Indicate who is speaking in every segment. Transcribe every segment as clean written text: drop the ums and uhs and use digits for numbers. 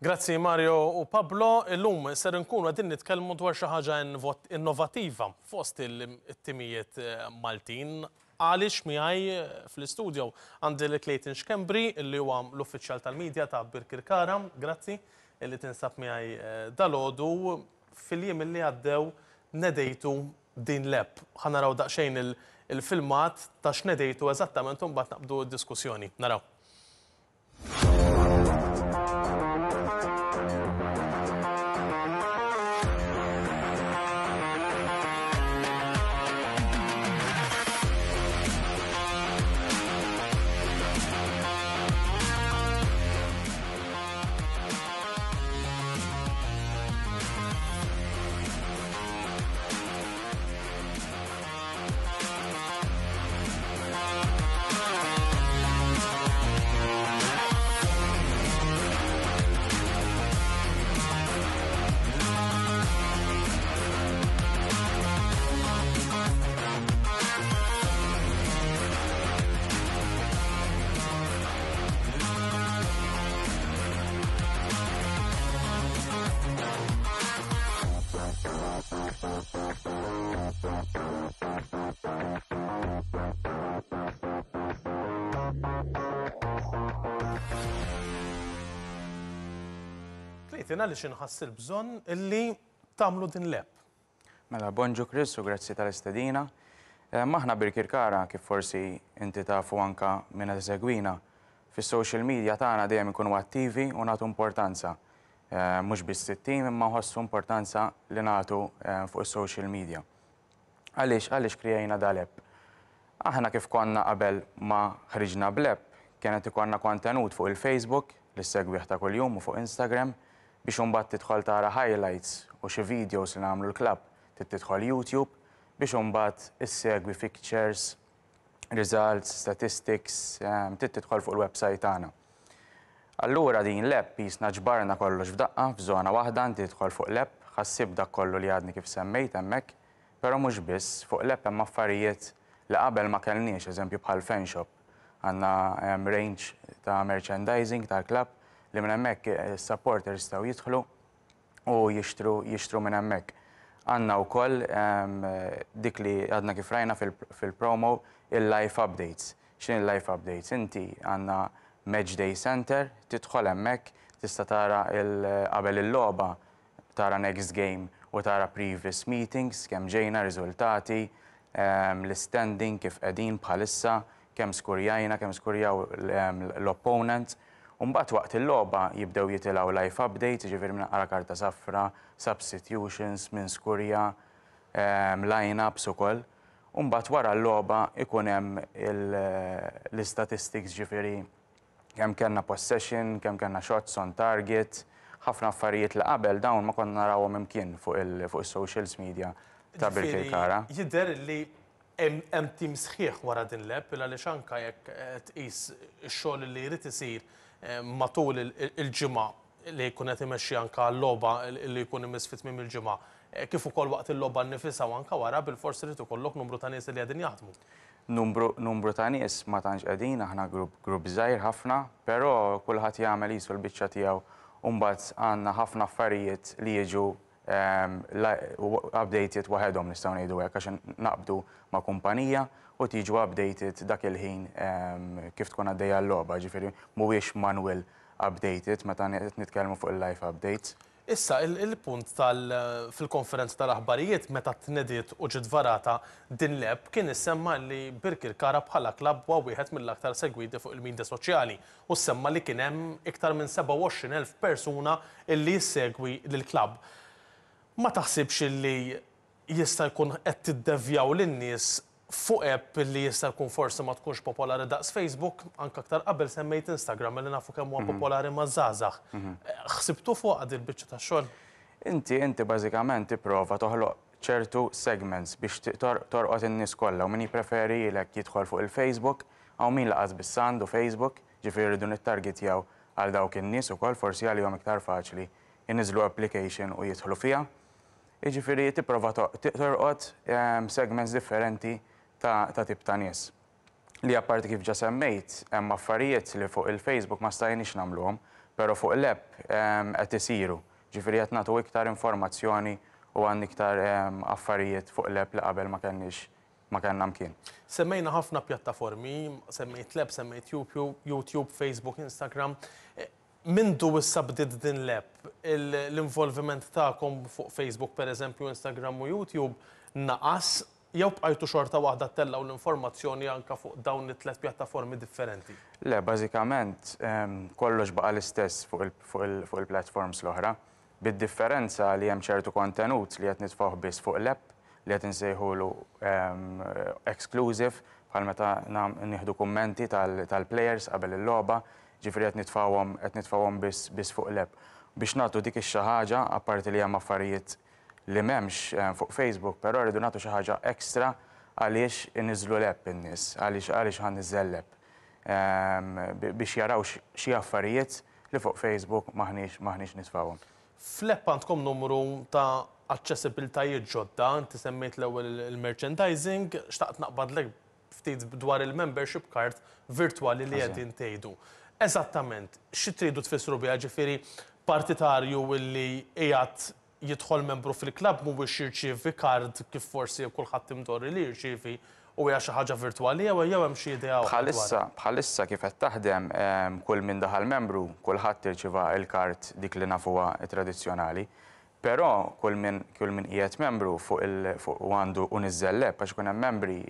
Speaker 1: Grazzi Mario u Pablo, illum ser inkunu qegħdin nitkellmu dwar xi ħaġa innovattiva fost it-timijiet Maltin. Għaliex miegħi fl-istudio għandi lil Clayton Schembri li huwa l-uffiċjal tal-media ta' Birkirkara. Grazzi li tinsab miegħi dalgħodu. Fil-jiem li għaddew nedejtu din l-app. Ħa naraw daqsxejn il-filmat ta' x'nedejtu eżattament u mbagħad naqbdu d-diskussjoni. Naraw. Clayton, għaliex inħass il-bżonn illi tagħmlu din l-app?
Speaker 2: Mela, bonġu Chris u grazzi tal-istedina. Eh, Maħna Birkirkara, kif forsi inti tafu anka minn qed isegwina, fis-social media tagħna dejjem ikunu attivi u nagħtu importanza. Eh, mhux biss it-tim imma nħossu importanza li nagħtu eh, fuq is-social media. Għaliex għaliex krijajna dal-app? Aħna kif konna qabel ma ħriġna bl-app, kienet ikollna kontenut fuq il-Facebook li ssegwih ta' kuljum u fuq Instagram biex imbagħad tidħol tara highlights u xi videos li nagħmlu l-klabb trid tidħol YouTube biex imbagħad issegwi fixtures, results, statistics, trid tidħol fuq il-website tagħna. Allura din l-app qisna ġbarna kollox f'daqqa f'żona waħda, inti tidħol fuq l-app, ħa ssib dak kollu li għadni kif semmejt hemmhekk, però mhux biss, fuq l-app hemm affarijiet li qabel ma kellniex, eżempju bħal fan shop. Għandna range ta' merchandising tal-klabb li minn hemmhekk is-supporters jistgħu jidħlu u jixtru jixtru minn hemmhekk. Għandna wkoll dik li għadna kif rajna fil-promo il-live updates. X'inhi l-live updates? Inti għandna Match Day Center, tidħol hemmhekk, tista' tara qabel il-logħba tara next game u tara previous meetings, kemm ġejna, riżultati, l-istanding kif qegħdin bħalissa, kemm skurjajna, kemm skurjaw l-opponent. U mbagħad waqt il-logħba jibdew jitilgħu live updates, jiġifieri min qara karta safra, substitutions, min skurja, line-ups ukoll. U mbagħad wara l-logħba ikun hemm l-istatistics ġifieri kemm kellna possession, kemm kellna shots on target, ħafna affarijiet li qabel dawn ma konna narawhom imkien fuq is-socials media ta' Birkirkara.
Speaker 1: Jidher li Hemm tim sħiħ wara din l-app il għaliex anke jekk tqis ix-xogħol li jrid isir matul il-ġimgħa li jkun qed imexxi anke għal-logħba li jkun imiss fi tmiem il-ġimgħa, kif ukoll waqt il-logħba nnifisha u anke wara, bilfors irid ikollok numru ta' nies li qegħdin jaħdmu.
Speaker 2: Numru numru ta' nies ma tantx qegħdin, aħna grupp grupp żgħir ħafna, però kulħadd jagħmel qisu l-biċċa tiegħu u mbagħad għandna ħafna affarijiet li jiġu updated waħedhom nistgħu ngħidu hekk għax naqbdu ma' kumpanija u tiġu updated dak il-ħin kif tkun għaddejja l-logħba, ġifieri mhuwiex manual updated meta qed nitkellmu fuq il-live updates.
Speaker 1: Issa, il-punt tal fil-konferenza tal-aħbarijiet meta tnediet u ġiet varata din l-app kien issemma li Birkirkara bħala klabb huwa wieħed mill-aktar segwiti fuq il-media soċjali u ssemma li kien hemm iktar minn 27,000 persuna illi jissegwi lill-klabb. Ma taħsibx illi jista' jkun qed tiddevjaw lin-nies fuq app illi jista' jkun forsi ma tkunx popolari daqs Facebook, anke aktar qabel semmejt Instagram illi nafu kemm huwa popolari maż-żgħażagħ. Ħsibtu fuqha dil-biċċa tax-xogħol?
Speaker 2: Inti inti bażikament tipprova toħloq ċertu segments biex torqod in-nies kollha u min jippreferi jidħol fuq il-Facebook, hawn min lanqas biss għandu Facebook, ġifieri rridu nittargetjaw għal dawk in-nies ukoll, forsi għalihom iktar faċli jniżżlu application u jidħlu fiha. Jiġifieri tipprova torqod segments differenti ta' tip ta' nies. Li apparti kif ġa semmejt, hemm affarijiet li fuq il-Facebook ma stajniex nagħmluhom. Però fuq l-app qed isiru. Ġifieri qed nagħtu iktar informazzjoni u għandna iktar affarijiet fuq l-app li qabel ma kenniex ma kellna mkien.
Speaker 1: Semmejna ħafna pjattaformi, semmejt l-app, semmejt YouTube, Facebook, Instagram. Mindu issa bdiet din l-app, l-involviment tagħkom fuq Facebook pereżempju, Instagram u YouTube naqas jew bqajtu xorta waħda ttellgħu l-informazzjoni anke fuq dawn it-tlet pjattaformi differenti?
Speaker 2: Le, bażikament kollox baqa' l-istess fuq il-platforms l-oħra, bid-differenza li hemm ċertu kontenut li qed nitfgħuh biss fuq l-app li qed insejħulu exclusive, bħal meta nieħdu kummenti tal-players qabel il-logħba, ġifieri qed nitfgħuhom qed nitfgħuhom biss biss fuq l-app. Biex nagħtu dik ix-xi ħaġa, apparti li hemm affarijiet li m'hemmx fuq Facebook, però rridu nagħtu xi ħaġa extra għaliex iniżżlu l-app in-nies, għaliex għaliex ħa niżżel l-app. Biex jaraw xi affarijiet li fuq Facebook m'aħniex m'aħniex nitfgħuhom.
Speaker 1: Fl-app għandkom numru ta' aċċessibiltajiet ġodda, inti semmejt l-ewwel il-merchandising, xtaqt naqbadlek ftit dwar il-membership card virtwali li qegħdin tgħidu. Eżattament, xi tridu tfissru biha, ġifieri partitarju li qiegħed jidħol membru fil-klabb mhuwiex jirċievi card kif forsi kulħadd imdorri li jirċievi u hija xi ħaġa virtwali jew jew hemm xi idea oħra dwarha?
Speaker 2: Bħalissa, bħalissa kif qed taħdem, kull min daħal membru, kulħadd irċieva l-card dik li nafuha tradizzjonali. Però kull min kull min qiegħed membru fuq il fuq u għandu u niżżel l-app għax ikun hemm membri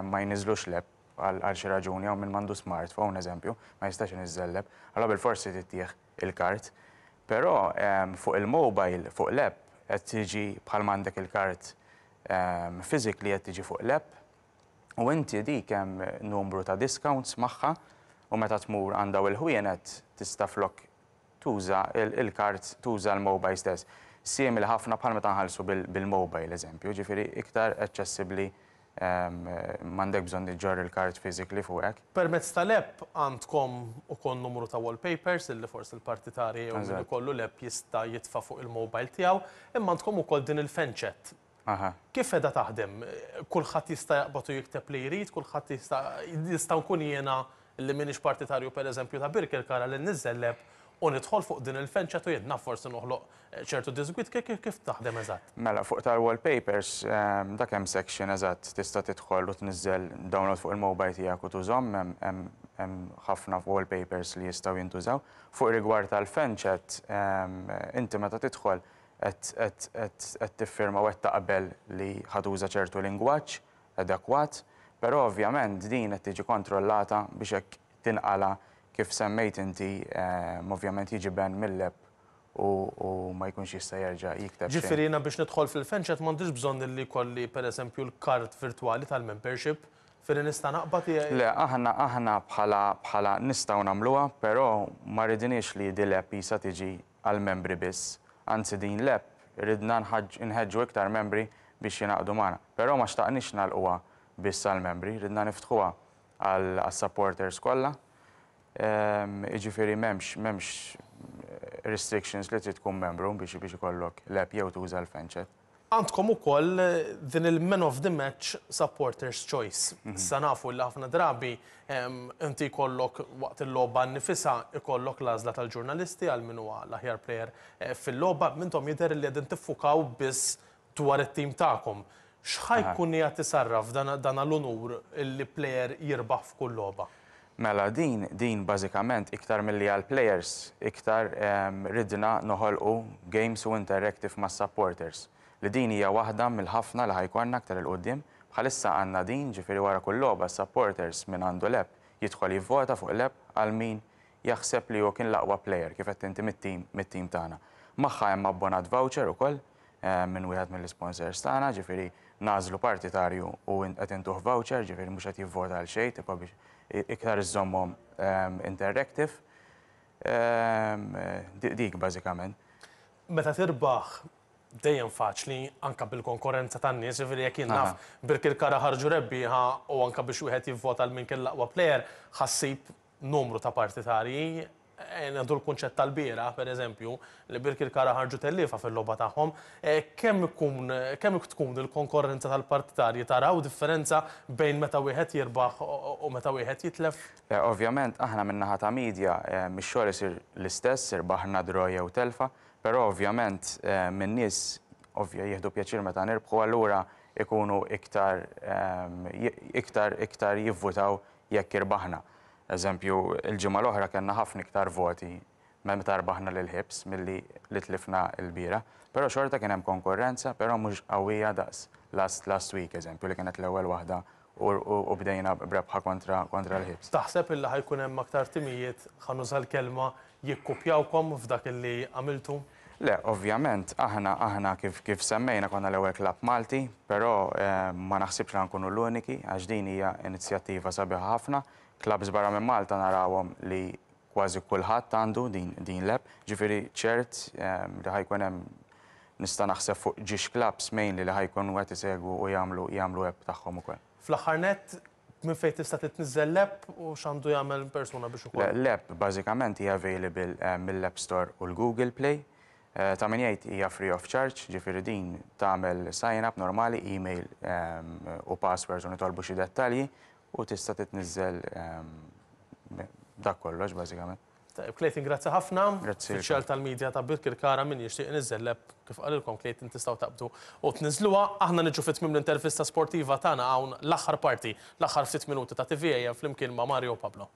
Speaker 2: ma jniżżlux l-app għal għal xi raġuni jew min m'għandux smartphone eżempju, ma jistax iniżżel l-app. Allura bilfors irid ittih il-card. Però fuq il-mobile, fuq l-app, qed tiġi bħalma għandek il-card physically qed tiġi fuq l-app u inti dik hemm numru ta' discounts magħha u meta tmur għand dawn il-ħwienet tista' flok tuża il-card tuża l-mobile stess. Simili ħafna bħal meta nħallsu bil-mobile eżempju, ġifieri iktar aċċessibbli m'għandek bżonn iġġorr il-card physically fuqek.
Speaker 1: Permezz tal-app għandkom ukoll numru ta' wallpapers illi forsi l-partitarji jew min ikollu l-app jista' jitfa' fuq il-mobile tiegħu, imma għandkom ukoll din il-fan chat. Kif qiegħda taħdem? Kulħadd jista' jaqbad u jikteb li jrid, kulħadd jista' nista' nkun jiena li m'iniex partitarju pereżempju ta' Birkirkara li nniżżel l-app u nidħol fuq din il-fan chat u jien naf forsi noħloq ċertu diżgwid, kif taħdem eżatt?
Speaker 2: Mela, fuq tal-wallpapers, dak hemm section eżatt tista' tidħol u tniżżel download fuq il-mobile tiegħek u tużhom, hemm ħafna wallpapers li jistgħu jintużaw. Fuq rigward tal-fan chat, inti meta tidħol qed tiffirma u qed taqbel li ħa tuża ċertu lingwaġġ adekwat, però ovvjament din qed tiġi kontrollata biex hekk tinqala' kif semmejt inti, ovvjament jiġi ban mill-app u ma jkunx jista' jerġa' jikteb xejn.
Speaker 1: Ġifieri jiena biex nidħol fil-fan chat m'għandix bżonn li jkolli pereżempju l-card virtwali tal-membership, ġifieri nista' naqbad i.
Speaker 2: Le, aħna aħna bħala bħala nistgħu nagħmluha, però ma ridniex li di l-app qisha tiġi għall-membri biss. Anzi din l-app ridna nħeġġu iktar membri biex jingħaqdu magħna. Però ma xtaqniex nagħlquha biss għall-membri, ridna niftħuha għas-supporters kollha. Jiġifieri m'hemmx m'hemmx restrictions li trid tkun membru biex biex ikollok l-app jew tuża l-fan chat.
Speaker 1: Għandkom ukoll din il-Man of the Match Supporters Choice. Issa nafu li ħafna drabi inti jkollok waqt il-logħba nnifisha jkollok l-għażla tal-ġurnalisti għal min huwa l-aħjar player fil-logħba. M'intom jidher li qegħdin tiffukaw biss dwar it-tim tagħkom. X'ħa jkun qiegħed isarraf dan l-unur li plejer jirbaħ f'kull logħba?
Speaker 2: Mela din din bażikament iktar milli għall-plejers, iktar ridna noħolqu games u interactive mas-supporters. Li din hija waħda mill-ħafna li ħa jkollna aktar 'il quddiem. Bħalissa għandna din, ġifieri wara kull logħba s-supporters min għandu l-app jidħol jivvota fuq l-app għal min jaħseb li hu kien l-aqwa plejer kif għedt inti mit-tim mit-tim tagħna. Magħha hemm abbonat voucher ukoll minn wieħed mill-isponsors tagħna, ġifieri nagħżlu partitarju u qed intuh voucher, ġifieri mhux qed jivvota għal xejn, tipo biex iktar iżżommhom interactive. Dik bażikament.
Speaker 1: Meta tirbaħ dejjem faċli anke bil-konkorrenza tan-nies, ġifieri jekk jien naf Birkirkara ħarġu rebbieħa u anke biex wieħed jivvota għal min kien l-aqwa plejer, ħa ssib numru ta' partitarji. Ngħidu l-kunċett tal-bieraħ, pereżempju, li Birkirkara ħarġu telliefa fil-logħba tagħhom, kemm ikun kemm tkun il-konkorrenza tal-partitarji taraw differenza bejn meta wieħed jirbaħ u meta wieħed jitlef?
Speaker 2: Le, ovvjament aħna min-naħa ta' media mix-xogħol isir l-istess, irbaħna draw jew telfa, però ovvjament min-nies ovvja jieħdu pjaċir meta nirbħu allura ikunu iktar iktar iktar jivvutaw jekk irbaħna. Eżempju, il-ġimgħa l-oħra kellna ħafna iktar voti meta rbaħna lil Hibs milli li tlifna l-bieraħ. Però xorta kien hemm konkurrenza, però mhux qawwija daqs last last week, eżempju, li kienet l-ewwel waħda u, u, u bdejna b'rebħa kontra, kontra l-Hibs.
Speaker 1: Taħseb illi ħa jkun hemm aktar timijiet, ħa nuża l-kelma, jikkupjawkom f'dak illi għamiltu?
Speaker 2: Le, ovvjament, aħna aħna kif kif semmejna konna l-ewwel klabb Malti, però eh, ma naħsibx li nkunu l-uniki għax din hija inizjattiva sabiħa ħafna. Klabbs barra minn Malta narawhom li kważi kulħadd għandu din din l-app, ġifieri ċert eh, li ħa jkun hemm nista' naħseb fuq ġiex clubs mainly li ħa jkunu qed isegwu u jagħmlu jagħmlu app tagħhom ukoll.
Speaker 1: Fl-aħħar nett, minn fejn tista' titniżżel l-app u x'għandu jagħmel persuna biex ukoll?
Speaker 2: L-app bażikament hija available mill-App Store u l-Google Play. Ta' min jgħid hija free of charge, ġifieri din tagħmel sign up normali, email u passwords u nitolbu xi dettalji u tista' titniżżel dak kollox bażikament.
Speaker 1: Tajjeb, Clayton, grazzi ħafna.
Speaker 2: Grazzi.
Speaker 1: Uffiċjal tal-media ta' Birkirkara min jixtieq iniżżel l-app kif qalilkom Clayton tistgħu taqbdu u tniżżluha. Aħna niġu fi tmiem l-intervista sportiva tagħna hawn l-aħħar parti, l-aħħar ftit minuti ta' TVAM flimkien ma' Mario Pablo.